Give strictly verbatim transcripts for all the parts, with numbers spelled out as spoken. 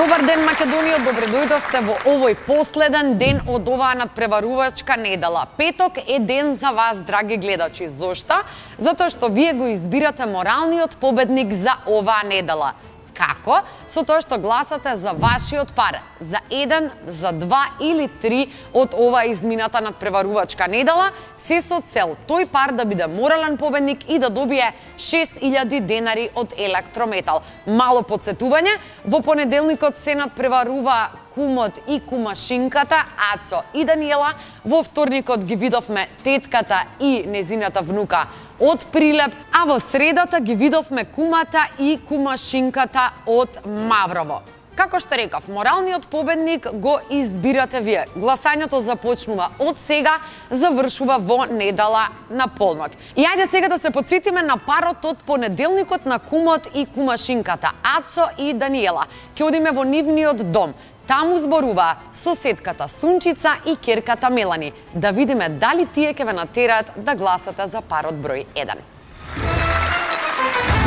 Добар ден, Македонија, добре дојдовте во овој последен ден од оваа надпреварувачка недела. Петок е ден за вас, драги гледачи. Зошто? Затоа што вие го избирате моралниот победник за оваа недела. Како? Со тоа што гласате за вашиот пар, за еден, за два или три од оваа измината надпреварувачка недела, се со цел тој пар да биде морален победник и да добие шест илјади денари од Електрометал. Мало подсетување, во понеделникот се надпреварува кумот и кумашинката, Ацо и Даниела. Во вторникот ги видовме тетката и незината внука од Прилеп, а во средата ги видовме кумата и кумашинката од Маврово. Како што рекав, моралниот победник го избирате вие. Гласањето започнува од сега, завршува во недела на полнок. И ајде сега да се потсетиме на парот од понеделникот на кумот и кумашинката, Ацо и Даниела. Ќе одиме во нивниот дом. Таму зборува соседката Сунчица и керката Мелани. Да видиме дали тие ќе ве натераат да гласате за парот број еден.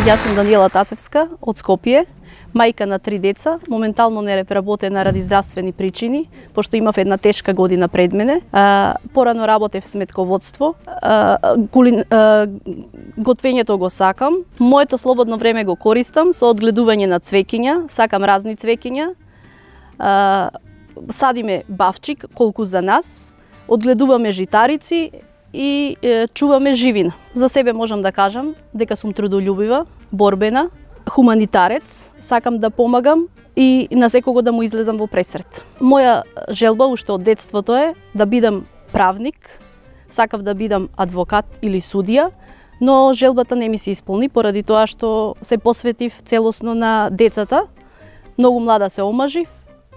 Јас сум Даниела Тасевска од Скопје, мајка на три деца, моментално не работена ради здравствени причини, пошто имав една тешка година пред мене. Порано работев в сметководство, готвењето го сакам. Моето слободно време го користам со одгледување на цвеќиња, сакам разни цвеќиња. Садиме бавчик, колку за нас, одгледуваме житарици и чуваме живина. За себе можам да кажам дека сум трудолюбива, борбена, хуманитарец, сакам да помагам и на секого да му излезам во пресрет. Моја желба уште од детството е да бидам правник, сакав да бидам адвокат или судија, но желбата не ми се исполни поради тоа што се посветив целосно на децата. Многу млада се омажив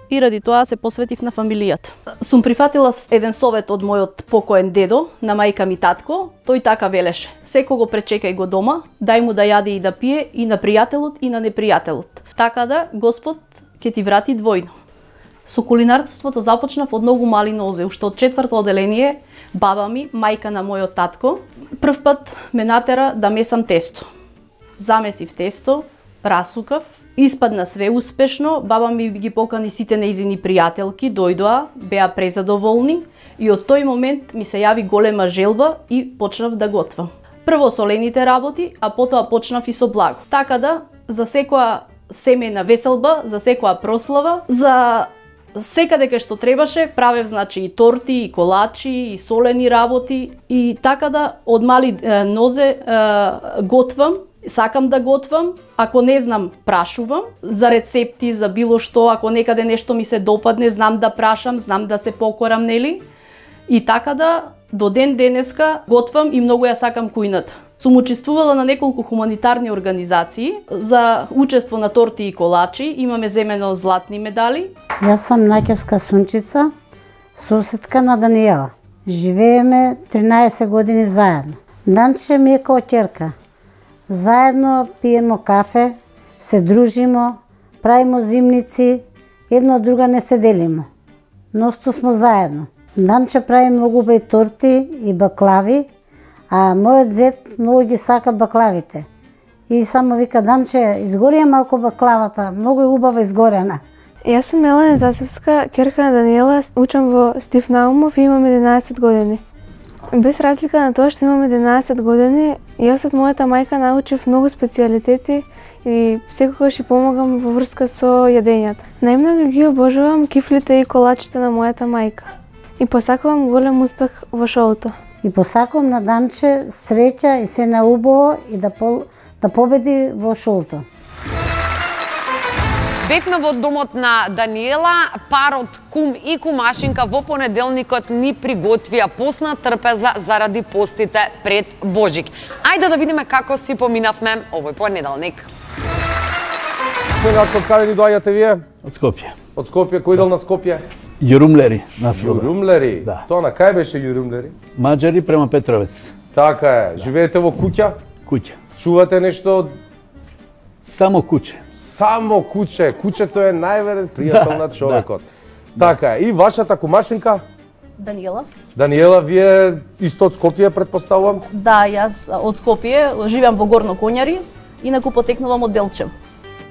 и ради тоа се посветив на фамилијата. Сум прифатила еден совет од мојот покоен дедо, на мајка ми татко. Тој така велеше: секого пречекај го дома, дај му да јаде и да пие и на пријателот и на непријателот. Така да Господ ќе ти врати двојно. Со кулинарството започнав од многу мали нозе, уште од четврто оделение. Баба ми, мајка на мојот татко, прв пат ме натера да месам тесто. Замесив тесто, расукав, испадна све успешно. Баба ми ги покани сите нејзини пријателки, дојдоа, беа презадоволни и од тој момент ми се јави голема желба и почнав да готвам. Прво солените работи, а потоа почнав и со благо. Така да, за секоја семејна веселба, за секоја прослава, за секаде кај што требаше, правев значи и торти, и колачи, и солени работи, и така да од мали е, нозе е, готвам. Сакам да готвам, ако не знам, прашувам за рецепти, за било што, ако некаде нешто ми се допадне, знам да прашам, знам да се покорам, нели? И така да, до ден денеска готвам и многу ја сакам кујната. Сум учествувала на неколку хуманитарни организации за учество на торти и колачи, имаме земено златни медали. Јас сум Наќевска Сунчица, соседка на Даниела. Живееме тринаесет години заедно. Данче ми е као ќерка. Заедно пиемо кафе, се дружимо, правимо зимници, едно од друга не се делимо. Носто смо заедно. Данче прави многу бај торти и баклави, а мојот зет многу ги сака баклавите. И само вика: Данче, изгорија малку баклавата, многу е убава изгорена. Јас сум Мелани Тасевска, ќерка на Даниела, учам во Стив Наумов и имам единаесет години. Без разлика на тоа што имам единаесет години, јас од мојата мајка научив многу специјалитети и секогаш ја помагам во врска со јадењата. Најмногу ги обожавам кифлите и колачите на мојата мајка. И посакувам голем успех во шоуто. И посакувам на Данче среќа и се наубаво и да, пол, да победи во шоуто. Бевме во домот на Даниела, парот кум и кумашинка во понеделникот ни приготвија постна трпеза заради постите пред Божик. Ајде да видиме како си поминавме овој понеделник. Сега од каде ни доаѓате вие? Од Скопје. Од Скопје, кој дел на Скопје? Јурумлери, нас рода. Јурумлери? Да. Тоа на кај беше Јурумлери? Маđари према Петровец. Така е. Живеете во куќа? Куќа. Чувате нешто од... Само куќе. Само куче. Кучето е најверен пријател Да, на човекот. да. Така е. И вашата кумашинка? Даниела. Даниела, вие исто од Скопје, предпоставувам? Да, јас од Скопје, живеам во Горно Коњари, инаку потекнувам од Делчев.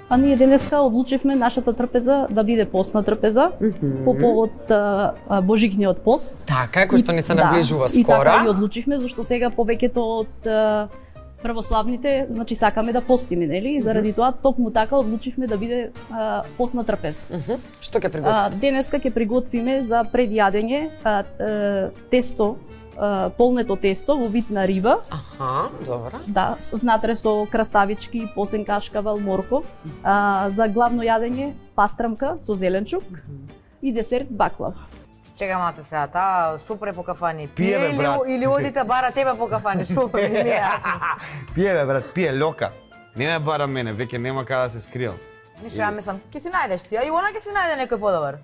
А ние денеска одлучивме нашата трпеза да биде постна трпеза mm -hmm. по повод а, а, Божикниот пост. Така, кој што ни се наближува да, скоро. И така ги одлучивме, зашто сега повеќето од а, православните, значи сакаме да постиме, нели? И заради тоа токму така одлучивме да биде а, постна трпеза. Mm -hmm. Што ќе приготвите? Денеска ќе приготвиме за предјадење а, а, тесто, а, полнето тесто во вид на риба. Аха, добро. Да, внатре со краставички, посен кашкавал, морков. А, за главно јадење пастрамка со зеленчук mm -hmm. и десерт баклава. Чека мате сега, таа шо пре по кафани? Пие, бе, или, брат. или одите бара тебе по кафани, шо пре, не ми е јасно. Пие, бе, брат, пие, лока. Не ме бара мене, веќе нема каде да се скријам. Ништо, ја мислам, ќе си најдеш ти, а и она ќе си најде некој подобар.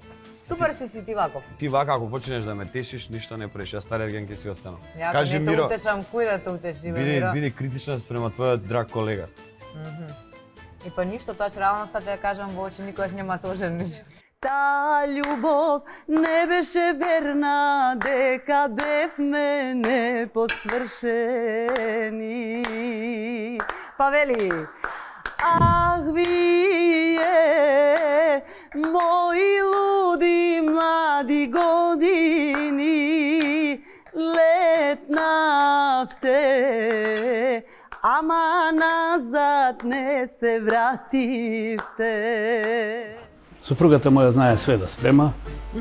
Супер си си ти ваков. Ти вака, ако почнеш да ме тешиш, ништо не преш, јас стар ерген ќе си останам. Ја Кажи, не те Миро, утешам, кој да те утеши, бе, биди, Миро? биди критична спрема твојот драг колега. Mm -hmm. И па ништо, тоа че реално сад ја кажам во очи, никогаш нема се ожениш. Та љубов не беше верна, дека бевме непосвршени. Па вели, ах вие, мои луди млади години, летнавте, ама назад не се вративте. Супругата моја знае све да спрема,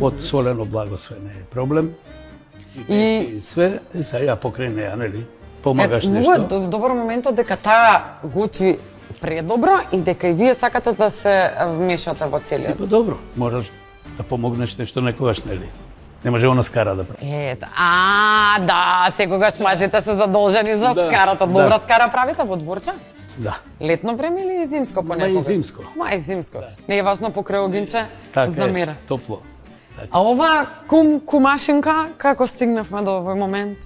од солено благосве не е проблем. И, и све, и сега ја покрај неја, нели? Помагаш е, нешто. Многу е добро моментот дека таа готви предобро и дека и вие сакате да се вмешате во целиот. Па добро, можеш да помогнеш нешто некогаш, нели? Не може она скара да прави. Ето, а, да, секогаш мажите се задолжени за да, скарата. Добра да. Скара правите во дворче? Да. Летно време или зимско понекога? Мај зимско. Мај зимско. Да. Не е важно покрај огинче, така замера. Е, топло. Така. А ова кум, кумашинка, како стигнавме до овој момент?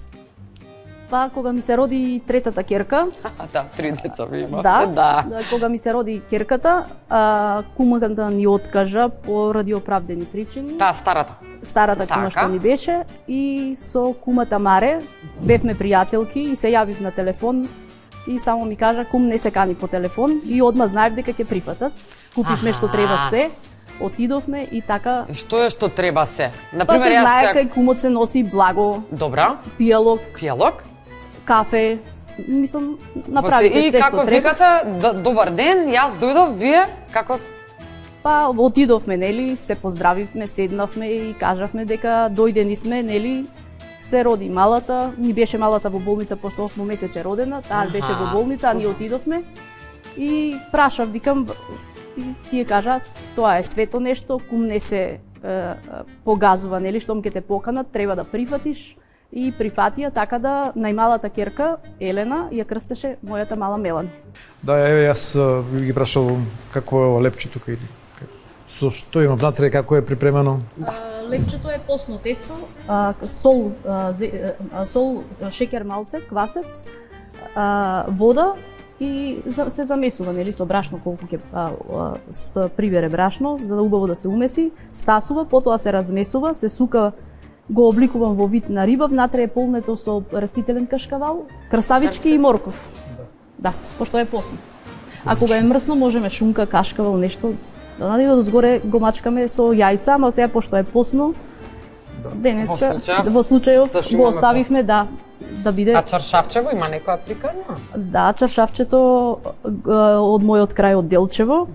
Па, кога ми се роди третата керка, да, три деца ви имавте, да, да. да. Кога ми се роди керката, а, кумата ни откажа поради оправдани причини. Таа старата. Старата кума што ни беше и со кумата Маре бевме пријателки и се јавив на телефон и само ми кажа кум не се кани по телефон и одма знаев дека ќе прифатат. Купивме што треба се, отидовме и така. И што е што треба се? Например, па се знае кај кумот се носи благо. Добра. Пијалок. Пијалок. Кафе, мислам, направите се што треба. И како викате, добар ден, јас дојдов, вие како? Па отидовме, нели, се поздравивме, седнавме и кажавме дека дојдени сме, нели, се роди малата, ни беше малата во болница пошто осмо месече родена, таа беше во болница, а ние отидовме и прашав, викам, и тие кажа, тоа е свето нешто, кум не се е, погазува, нели, штом ќе те поканат, треба да прифатиш. И прифатија, така да најмалата керка, Елена, ја крстеше мојата мала Мелани. Да, еве, јас ги прашал какво е ова лепче тука и со што има внатре, како е припремено? А, лепчето е постно тесто, а, сол, а, зе, а, сол, шеќер малце, квасец, а, вода и за, се замесува, нели, со брашно колку ќе прибере брашно, за да убаво да се умеси, стасува, потоа се размесува, се сука, го обликувам во вид на риба, внатре е полнето со растителен кашкавал, краставички и морков. Да, пошто е постно. А кога е мрсно, можеме шунка, кашкавал, нешто, да надиво дозгоре го мачкаме со јајца, ама сега пошто е постно, денеска, во случајов го оставивме, да, да биде... А чаршавчево има некоја приказна? Да, чаршавчето од мојот крај од Делчево,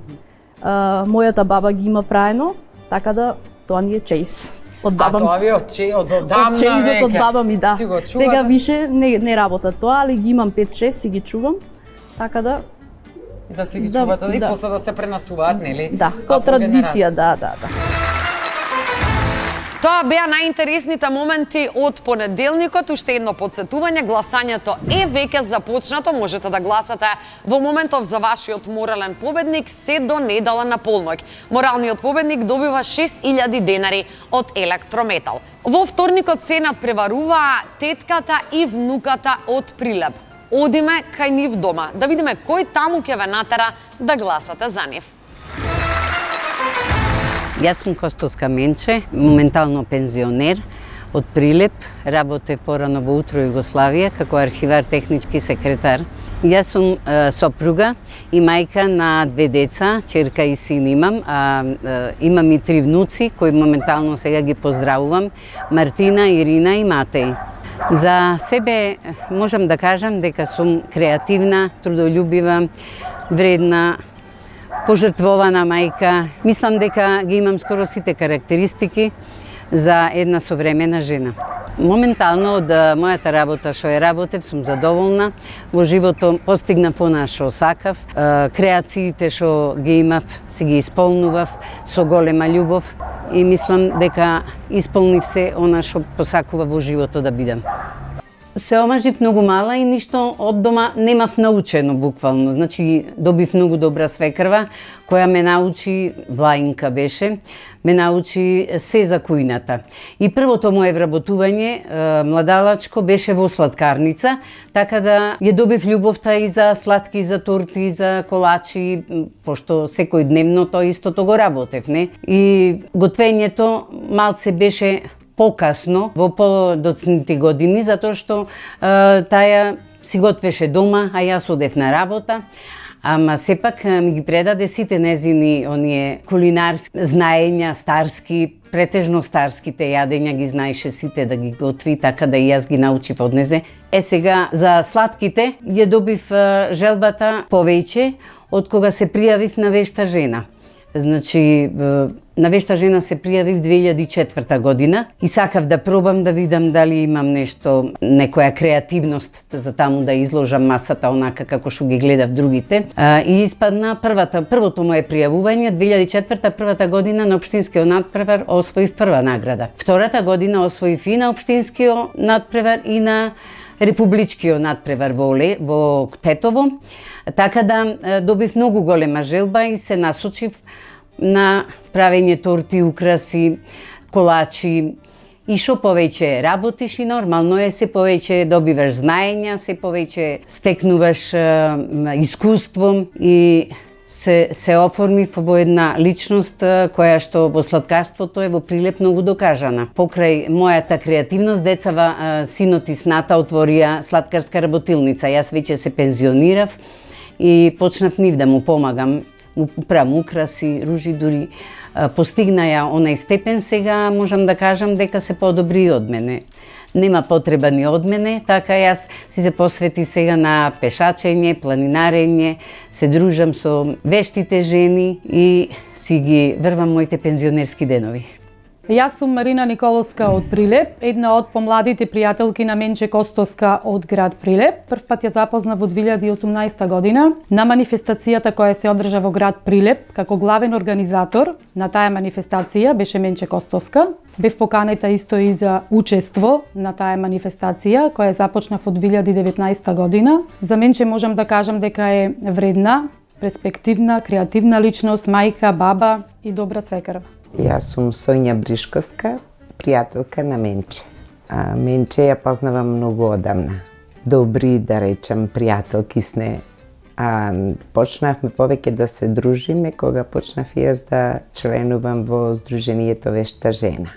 мојата баба ги има праено, така да тоа ни е чејс. Од баба ми. А тоа ви од че, од одамна веќе. Од чејзот од баба ми, да. Сега више не, не работа тоа, али ги имам пет-шест и ги чувам, така да... И да си ги да, чувате да, и после да се пренасуваат, нели? Да, како традиција, да, да, да. Тоа беа најинтересните моменти од понеделникот. Уште едно подсетување, гласањето е веќе започнато. Можете да гласате во моментов за вашиот морален победник се до недела на полноќ. Моралниот победник добива шест илјади денари од Електрометал. Во вторникот се надпреваруваа тетката и внуката од Прилеп. Одиме кај нив дома, да видиме кој таму ќе ве натера да гласате за нив. Јас сум Костовска Менче, моментално пензионер. од Прилеп, работев порано во Утро Југославија како архивар технички секретар. Јас сум е, сопруга и мајка на две деца, черка и син имам, а е, имам и три внуци кои моментално сега ги поздравувам, Мартина, Ирина и Матеј. За себе можам да кажам дека сум креативна, трудолюбива, вредна, пожртвована мајка. Мислам дека ги имам скоро сите карактеристики за една современа жена. Моментално од мојата работа што ја работев сум задоволна. Во животот постигнав она што сакав. Креациите што ги имав си ги исполнував со голема љубов и мислам дека исполнив се она што посакува во животот да бидам. Се омажив многу мала и ништо од дома немав научено буквално. Значи добив многу добра свекрва која ме научи, Влаинка беше, ме научи се за кујната. И првото мое вработување младалачко беше во сладкарница, така да ја добив љубовта и за сладки, за торти, за колачи, пошто секој дневно тоа истото го работев, не? И готвењето малце беше покасно, во подоцните години, затоа што е, таја си готвеше дома, а јас одев на работа. Ама сепак ми ги предаде сите незини оние кулинарски знаења, старски, претежно старските јадења ги знаеше сите да ги готви, така да и јас ги научив од незе. Е сега за сладките ја добив желбата повеќе од кога се пријавив на Вешта жена. Значи, на Вешта жена се пријавив две илјади и четврта година и сакав да пробам да видам дали имам нешто, некоја креативност за таму да изложам масата онака како што ги гледав другите. И испадна првата, првото мое пријавување, две илјади и четврта првата година на општинскиот надпревар освоив прва награда. Втората година освоив и на општинскиот надпревар и на републичкиот надпревар во, Оле, во Тетово. Така да добив многу голема желба и се насочив на правење торти, украси, колачи. И што повеќе работиш и нормално е, се повеќе добиваш знаења, се повеќе стекнуваш е, искуство и се, се оформив во една личност која што во сладкарството е во Прилеп многу докажана. Покрај мојата креативност, децава, синот и сната отворија сладкарска работилница. Јас веќе се пензионирав и почнав нив да му помагам, му правам украси, ружи, дури постигна ја онај степен, сега можам да кажам дека се подобри од мене. Нема потреба ни од мене, така јас си се посвети сега на пешачење, планинарење, се дружам со вештите жени и си ги врвам моите пензионерски денови. Јас сум Марина Николовска од Прилеп, една од помладите пријателки на Менче Костоска од град Прилеп. Прв пат ја запознав во две илјади и осумнаесета година на манифестацијата која се одржа во град Прилеп. Како главен организатор на таа манифестација беше Менче Костоска. Бев поканета исто и за учество на таа манифестација која започна во две илјади и деветнаесета година. За Менче можам да кажам дека е вредна, перспективна, креативна личност, мајка, баба и добра свекрва. Јас сум Соња Бришковска, пријателка на Менче. А, Менче ја познавам многу одамна. Добри, да речем, пријателки сне. А, почнавме повеќе да се дружиме кога почнав јас да членувам во Сдруженијето Вешта жена.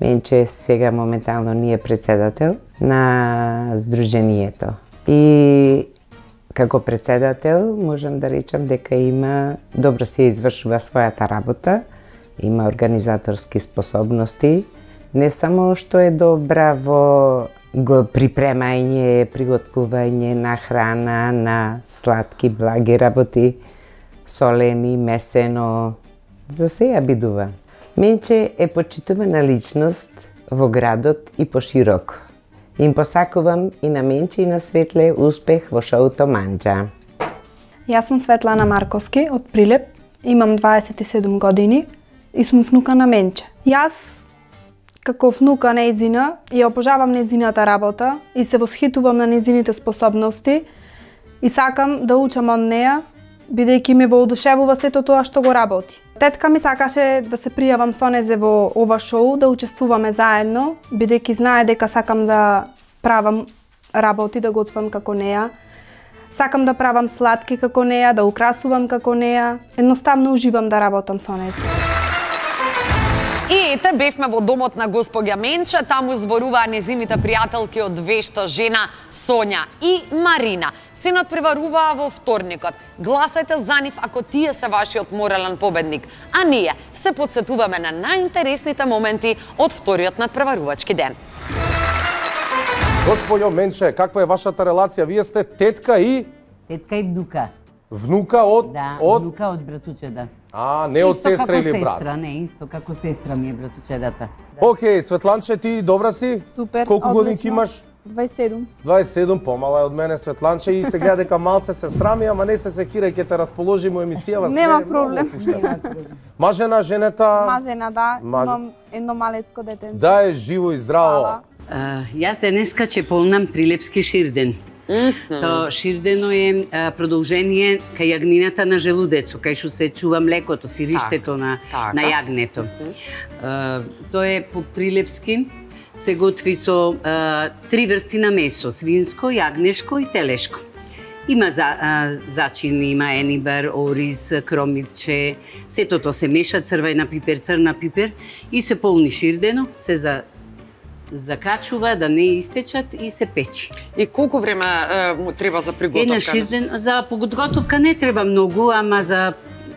Менче сега моментално ни е председател на Сдруженијето. И како председател можам да речам дека има добро се извршува својата работа, има организаторски способности, не само што е добра во го припремање, приготвување на храна, на сладки, благи работи, солени, месено, за се ја бидува. Менче е почитувана личност во градот и пошироко. Им посакувам и на Менче и на Светле успех во шоуто Манџа. Јас сум Светлана Марковски од Прилеп, имам дваесет и седум години и сум внука на Менче. Јас, како внука нејзина, ја обожавам нејзината работа и се восхитувам на нејзините способности и сакам да учам од неја, бидејќи ме воодушевува сето тоа што го работи. Тетка ми сакаше да се пријавам со незе во ова шоу, да учествуваме заедно, бидејќи знае дека сакам да правам работи, да готвам како неја. Сакам да правам сладки како неја, да украсувам како неја. Едноставно уживам да работам со неја. И ете, бевме во домот на госпоѓа Менче, таму зборуваа незините пријателки од вешта жена Сонја и Марина. Се надпреваруваа во вторникот. Гласајте за нив ако тие се вашиот морален победник. А ние се подсетуваме на најинтересните моменти од вториот надпреварувачки ден. Господјо Менче, каква е вашата релација? Вие сте тетка и... Тетка и внука. Внука од... Да, од... внука од братучеда. А, не од сестра или брат? Сестра, не, исто како сестра ми е братучедата. Да. Океј, Светланче, ти добра си? Супер, колку одлично. години имаш? дваесет и седум. дваесет и седум, помала е од мене Светланче и сега дека малце се срами, ама не се секира, ќе те расположиме емисијава. Нема проблем. Мажена, женета? Мажена, да. Маж... Имам едно малецко дете. Да, е живо и здраво. Uh, јас денеска ќе полнам Прилепски ширден. Mm-hmm. То ширдено е а, продолжение кај јагнината на желудецо, кај што се чува млекото, сириштето на, така. на јагнето. Uh, тоа е по прилепски, се готви со а, три врсти на месо, свинско, јагнешко и телешко. Има за, а, зачини, има енибар, ориз, кромирче, сето тоа се меша, црвена пипер, црна пипер и се полни ширдено, се за закачува да не истечат и се печи. И колку време е, му треба за приготовка? Една ширден, за подготовка не треба многу, ама за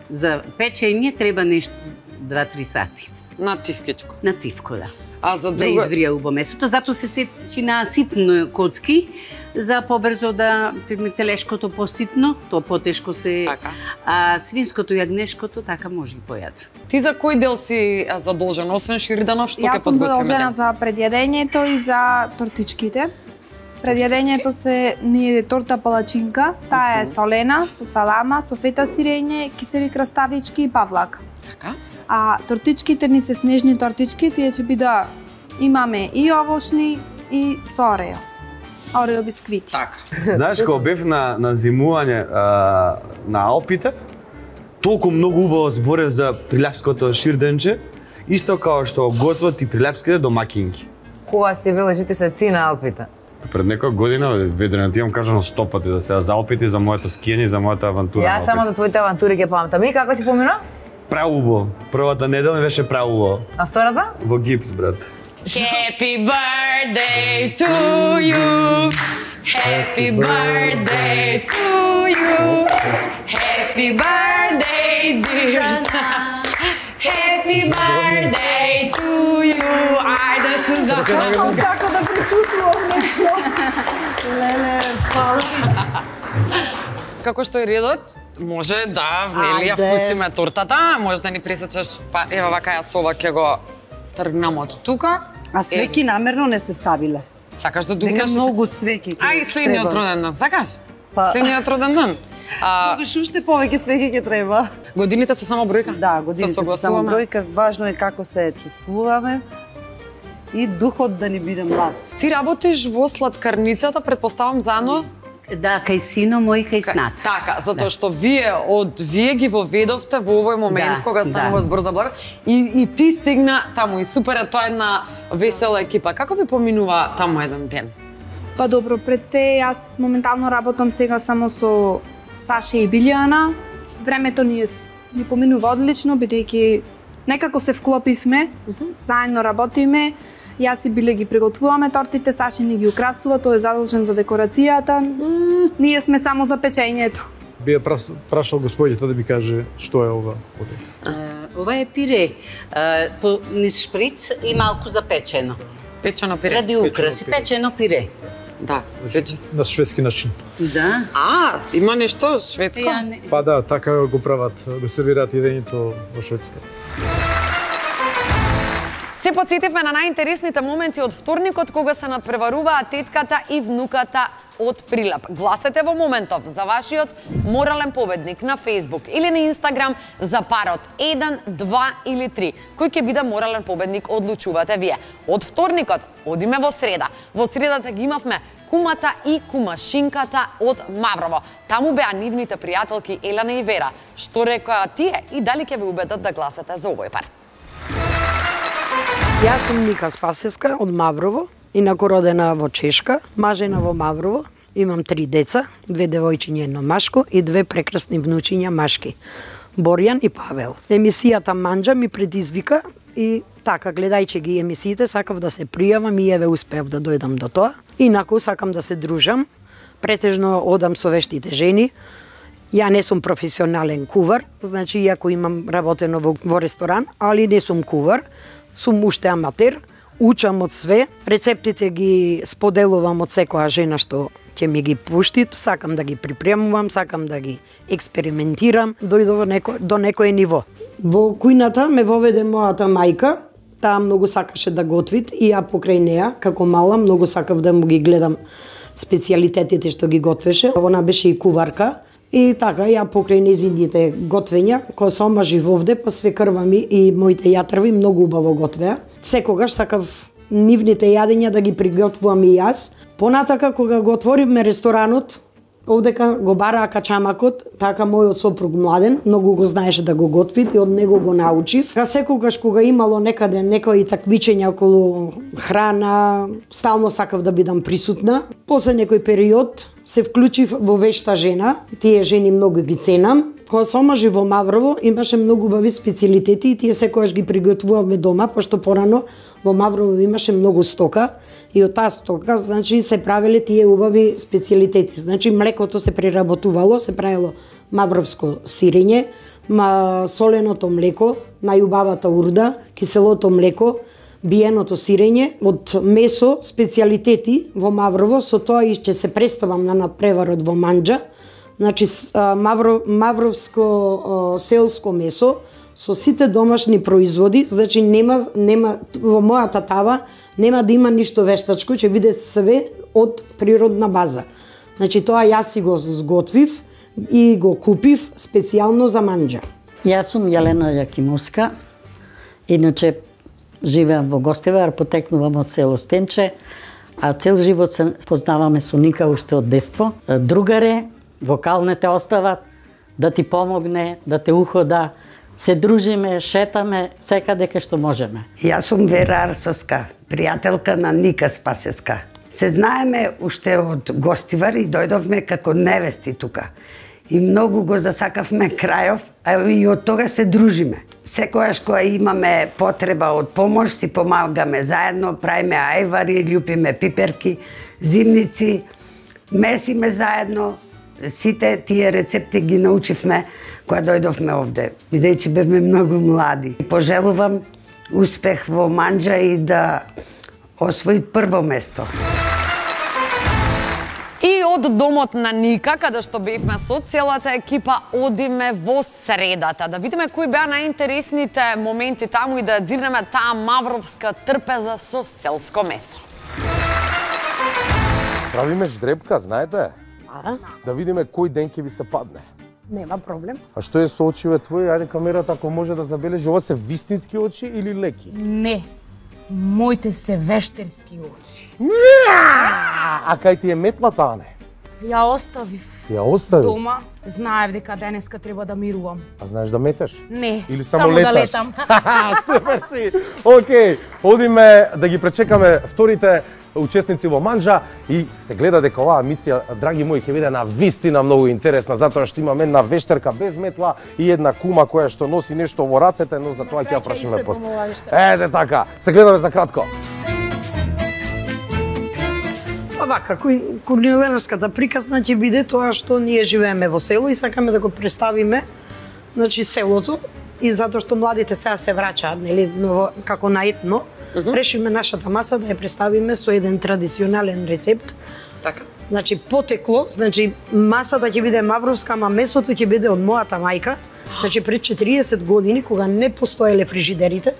за печење треба нешто два-три сати. На тивкичко. На тивко, да. А за друга... Да изврија убаво месото, затоа се сечи на ситно коцки, за побрзо да телешкото поситно, тоа потешко се, така. А свинското и јагнешкото така може и појадро. Ти за кој дел си задолжен, освен ширденов, што ќе подготвиме? Јас сум задолжена за предјадењето и за тортичките. Предјадењето се ни е торта палачинка, таа е солена, со салама, со фета сирење, кисели краставички и павлак. Така. А тортичките ни се снежни тортички, тие ќе биде имаме и овошни и со орео. Орео бисквити. Така. Знаеш, кога бев на, на зимување а, на Алпите, толку многу убаво зборев за прилепското ширденче, исто као што готват и прилепските домакинки. Кога си бил жити се ти на Алпите? Пред некоја година, ведре ти имам кажано сто пати да се за Алпите, за моето скијање, за мојата авантура. Јас само за твоите авантури ќе памтам. И како си помина? Праубаво. Првата недела ми беше праубаво. А втората? Во гипс, брат. Happy birthday to you. Happy birthday to you. Happy birthday dear. Happy birthday to you. Ајде Суза. Како да пречувствувам нешто. Леле, фала. Како што е редот, може да, нели, ја вкусиме тортата, може да ни пресечеш, па ева вака ја сова ќе го тргнам од тука. А свеки намерно не се ставиле. Сакаш да дугнеш? Дека многу свеки. А и следниот роден ден, сакаш? Па... Следниот роден ден. Тогаш уште повеќе свеки ќе треба. Годините се само бројка? Да, годините се само бројка. Важно е како се чувствуваме и духот да ни биде млад. Ти работиш во сладкарницата, предпоставам заедно? Да, кај сино мој, кај снат. Така, затоа што вие од вие ги воведовте во овој момент да, кога станува да. збор за благо и, и ти стигна таму и супер е тоа една весела екипа. Како ви поминува таму еден ден? Па добро, пред се јас моментално работам сега само со Саша и Билјана. Времето ни е ни поминува одлично бидејќи некако се вклопивме, uh -huh. заедно работиме. Јас и Биле ги приготвуваме тортите, Саши ни ги украсува, тој е задолжен за декорацијата. Mm, ние сме само за печењето. Би прашал господјето да ми каже што е ова. Uh, ова е пире, uh, по низ шприц и малку запечено. Печено пире? Ради украси, печено пире. Да, значи, на шведски начин. Да. А, има нешто шведско? Не... Па да, така го прават, го сервираат јадењето во Шведска. Се подсетивме на најинтересните моменти од вторникот кога се надпреваруваа тетката и внуката од Прилеп. Гласете во моментов за вашиот морален победник на Facebook или на Instagram за парот еден, два или три. Кој ќе биде морален победник, одлучувате вие. Од вторникот одиме во среда. Во средата ги имавме кумата и кумашинката од Маврово. Таму беа нивните пријателки Елена и Вера. Што рекоа тие и дали ќе ве убедат да гласате за овој пар? Јас сум Ника Спасеска од Маврово, инаку родена во Чешка, мажена во Маврово. Имам три деца, две девојчиња, едно машко и две прекрасни внучиња машки, Борјан и Павел. Емисијата Манџа ми предизвика и така, гледајќи ги емисиите, сакав да се пријавам и еве успеав да дојдам до тоа. Инаку сакам да се дружам, претежно одам со вештите жени. Ја не сум професионален кувар, значи иако имам работено во, во ресторан, али не сум кувар, сум уште аматер, учам од све, рецептите ги споделувам од секоја жена што ќе ми ги пушти, сакам да ги припремувам, сакам да ги експериментирам, дојдов неко, до некое ниво. Во кујната ме воведе мојата мајка, таа многу сакаше да готви и ја покрај неа, како мала, многу сакав да му ги гледам специјалитетите што ги готвеше. Она беше и куварка. И така, ја покрај незините готвења, кога се омажив овде, па свекрва ми и моите јатрви многу убаво готвеа. Секогаш сакав нивните јадења да ги приготвувам и јас. Понатака, кога го отворивме ресторанот, овдека го бараа качамакот, така мојот сопруг Младен, многу го знаеше да го готви и од него го научив. Ка секогаш кога имало некаде некои такмичења околу храна, стално сакав да бидам присутна. После некој период се вклучив во вешта жена, тие жени многу ги ценам. Кога се омажи во Маврово, имаше многу убави специјалитети и тие секогаш ги приготвувавме дома, пошто порано во Маврово имаше многу стока и од таа стока, значи, се правеле тие убави специјалитети. Значи, млекото се преработувало, се правило мавровско сирење, ма соленото млеко, најубавата урда, киселото млеко, биеното сирење, од месо, специјалитети во Маврово, со тоа и ќе се представам на надпреварот во Манџа. Значи, мавро, мавровско селско месо со сите домашни производи, значи нема, нема во мојата тава нема да има ништо вештачко, ќе биде све од природна база. Значи тоа јас си го сготвив и го купив специјално за Манџа. Јас сум Јелена Јакимовска, иначе живеам во Гостивар, потекнувам од село Стенче, а цел живот се познаваме со Ника уште од детство. Другаре, вокалне те остават, да ти помогне, да те ухода, се дружиме, шетаме, секаде кај што можеме. Јас сум Вера Арсовска, пријателка на Ника Спасеска. Се знаеме уште од Гостивар и дојдовме како невести тука. И многу го засакавме крајов, а и од тога се дружиме. Секојаш кога имаме потреба од помош, си помагаме заедно, правиме ајвари, љупиме пиперки, зимници, месиме заедно. Сите тие рецепти ги научивме кога дојдовме овде, бидејќи бевме многу млади. Пожелувам успех во Манџа и да освои прво место. И од домот на Ника, каде што бевме со целата екипа, одиме во средата. Да видиме кои беа најинтересните моменти таму и да дзирнеме таа мавровска трпеза со селско месо. Правиме ждребка, знаете? А? Да видиме кој ден ќе ви се падне. Нема проблем. А што е со очиве твои? Ајде камерата ако може да забележи, ова се вистински очи или леки? Не. Моите се вештерски очи. А кај ти е метлата, Ане? Ја оставив. Ја остави? Дома, знаев дека денеска треба да мирувам. А знаеш да метеш? Не, или само, само леташ? да летам. Супер си! Океј, одиме да ги пречекаме вторите учесници во Манџа и се гледа дека оваа мисија, драги мои, ќе биде на вистина многу интересна, затоа што имаме една вештерка без метла и една кума која што носи нешто во рацете, но за тоа ќе ја прашиме после. Еде така, се гледаме за кратко. Вака, кулинарската приказна ќе биде тоа што ние живееме во село и сакаме да го представиме, значи, селото, и затоа што младите сега се враќаат, нели, како на етно, решиме нашата маса да ја представиме со еден традиционален рецепт. Така. Значи, потекло, значи, масата ќе биде мавровска, ама месото ќе биде од мојата мајка. Значи, пред четириесет години, кога не постоеле фрижидерите,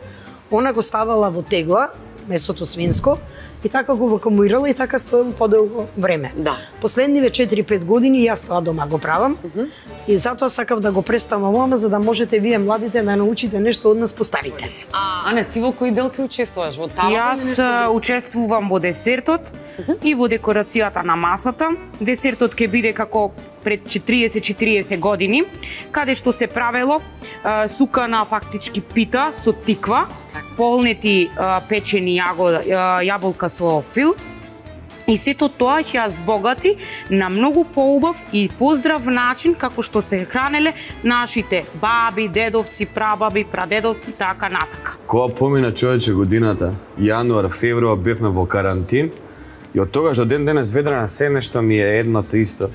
она го ставала во тегла, месото свинско, и така го вакуумирала и така стоело подолго време. Да. Последниве четири-пет години јас тоа дома го правам, uh -huh. и затоа сакав да го представам ова, за да можете вие младите да научите нешто од нас постарите. А, Ане, ти во кој дел ќе учествуваш? Во тава Јас или нешто? учествувам во десертот uh -huh. и во декорацијата на масата. Десертот ќе биде како пред четириесет-четириесет години, каде што се правело а, сукана фактички пита со тиква, полнети а, печени јаго, а, јаболка со фил, И сето тоа ќе ја збогати на многу поубав и поздрав начин како што се хранеле нашите баби, дедовци, прабаби, прадедовци, така натака. Кога помина човече годината, јануар, февруар бевме во карантин и од тогаш до ден денес ведрана се нешто ми е едното исто.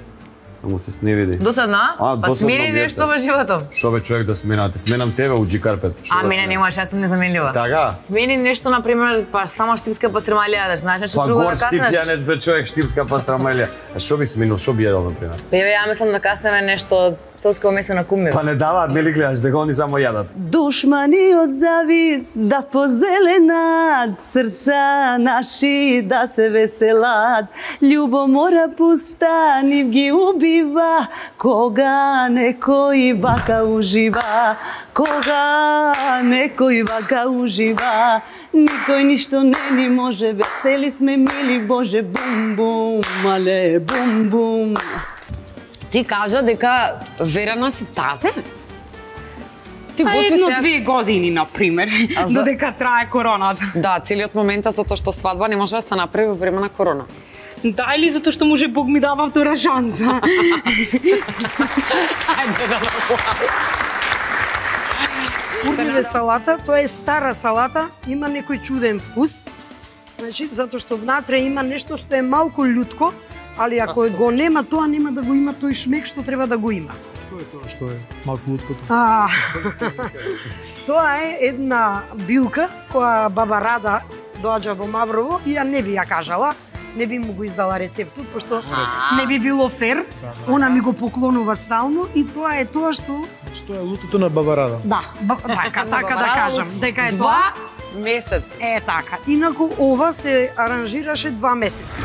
Да му се сневиди. Досадна? А, па досадно смени биете. нешто во животот. Шо бе човек да сменате? Сменам тебе у G-Carpet. А мене немаш, јас сум незаменлива. Така? Смени нешто, например, па само штипска пастрамалија, да знаеш нешто Па друго гор да штип каснеш. јанец бе човек, штипска пастрамалија. А шо би сменил, шо би јадел, например? Бебе, ја мислам да каснеме нешто селско месо на кумир. Па не даваат, нели гледаш, дека они само јадат. Душмани од завис да позеленат, срца наши да се веселат. Љубомора пуста нив ги убива, кога некој вака ужива. Кога некој вака ужива, никој ништо не ни може, весели сме мили, Боже, бум бум, мале, бум бум. Ти кажа дека верена си тазе? Ти Па готви едно се... две години, например, за... додека трае короната. Да, целиот момент е затоа што свадба не може да се направи во време на корона. Да, или затоа што може Бог ми дава втора шанса. Ајде да направи. Урбиве салата, тоа е стара салата, има некој чуден вкус. Значи, затоа што внатре има нешто што е малку лутко, али ако го нема тоа, нема да го има тој шмек што треба да го има. Што е тоа што е малку луткото? А, тоа е една билка која баба Рада доаѓа во Маврово и ја не би ја кажала, не би му го издала рецептот, пошто не би било фер. Она ми го поклонува стално и тоа е тоа што... Што е лутото на баба Рада? Да, ба, така, така да кажам, дека е тоа. Два месеци. Е така. Инаку ова се аранжираше два месеци.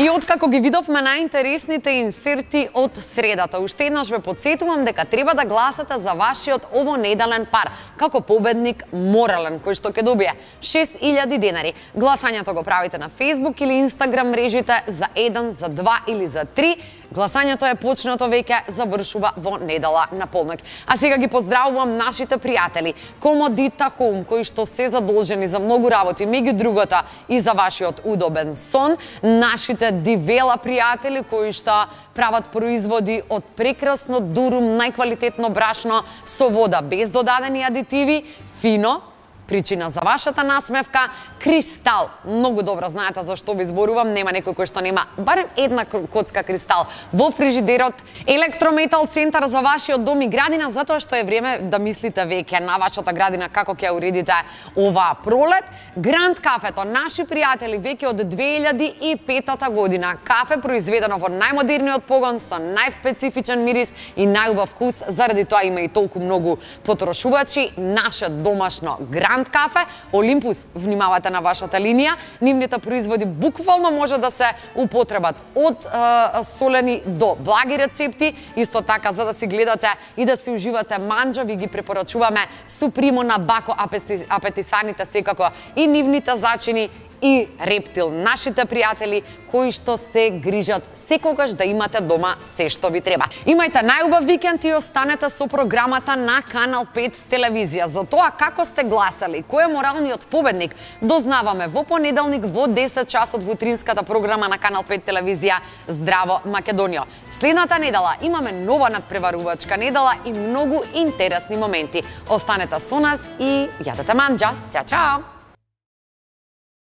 И откако ги видовме најинтересните инсерти од средата, уште еднаш ве подсетувам дека треба да гласате за вашиот овонеделен пар, како победник морален, кој што ќе добие шест илјади денари. Гласањето го правите на Facebook или Instagram мрежите за еден, за два или за три. Гласањето е почнато веќе, завршува во недела на полноќ. А сега ги поздравувам нашите пријатели, Комодита Home, кои што се задолжени за многу работи, меѓу другото и за вашиот удобен сон, нашите Дивела пријатели кои што прават производи од прекрасно дурум, најквалитетно брашно со вода без додадени адитиви, фино, причина за вашата насмевка, Кристал. Многу добро знаете за што ви зборувам, нема некој кој што нема барем една коцка Кристал во фрижидерот. Електрометал центар за вашиот дом и градина, затоа што е време да мислите веќе на вашата градина како ќе ја уредите оваа пролет. Гранд кафето, наши пријатели веќе од две илјади и петата година. Кафе произведено во најмодерниот погон со најспецифичен мирис и најубав вкус, заради тоа има и толку многу потрошувачи. Наше домашно Гранд кафе, Олимпус, внимавате на вашата линија. Нивните производи буквално може да се употребат од е, солени до благи рецепти. Исто така, за да си гледате и да си уживате манџа, ви ги препорачуваме Супримо на Бако апетисаните секако и нивните зачини и Рептил, нашите пријатели кои што се грижат секогаш да имате дома се што ви треба. Имајте најубав викенд и останете со програмата на Канал пет телевизија. За тоа како сте гласали, кој е моралниот победник, дознаваме во понеделник во десет часот во утринската програма на Канал пет телевизија Здраво Македонија. Следната недела имаме нова надпреварувачка недела и многу интересни моменти. Останете со нас и јадете манџа. Чао, чао!